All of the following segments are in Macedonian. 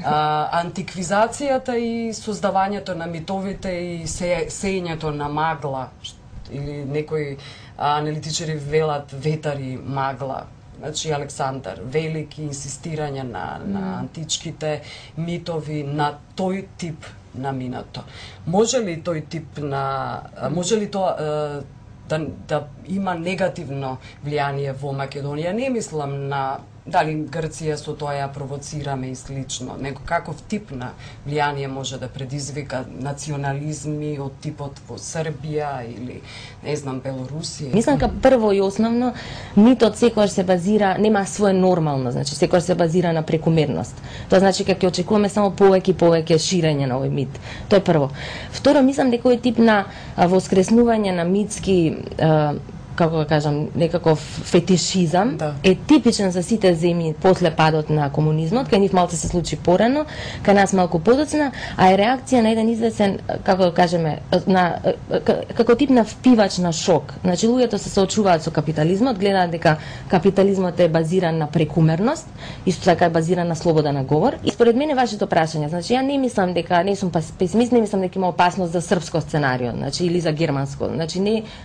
Антиквизацијата и создавањето на митовите и сеењето на магла, или некои аналитичари велат ветар и магла. Значи Александар Велики, инсистирање на античките митови, на тој тип на минато. Може ли тој тип на... може ли тоа да има негативно влијание во Македонија? Не мислам на дали Грција со тоа ја провоцираме и слично, него каков тип на влијание може да предизвика национализми од типот во Србија или, не знам, Белорусија? Мислам дека прво и основно митот секогаш се базира, нема свое нормално, значи секогаш се базира на прекумерност. Тоа значи дека ќе очекуваме само повеќе ширење на овој мит. Тоа е прво. Второ, мислам дека овој тип на воскреснување на митски како да кажам, некаков фетишизам е типичен за сите земји после падот на комунизмот, кај нив малку се случи порано, кај нас малку подоцна, а е реакција на еден известен, како да кажеме, како тип на впивач на шок. Значи луѓето се соочуваат со капитализмот, гледаат дека капитализмот е базиран на прекумерност, исто така е базиран на слобода на говор. И според мене вашето прашање, значи ја не мислам дека, не сум песимист, не мислам дека има опасност за српско сценарио, значи или за германско. Значи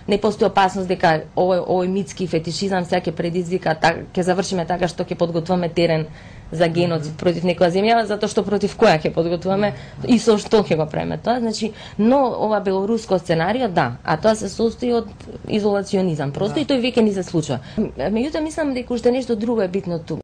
не постои опасност дека овој митски фетишизам сега ќе предизвика, ќе завршиме така што ќе подготваме терен за геноцид против некоја земја, затоа што против која ќе подготвуваме и со што ќе го правиме тоа. Значи, но ова белоруско сценарио, да, а тоа се состои од изолационизам. Просто и тој веќе ни се случува. Меѓутоа мислам дека уште нешто друго е битно ту.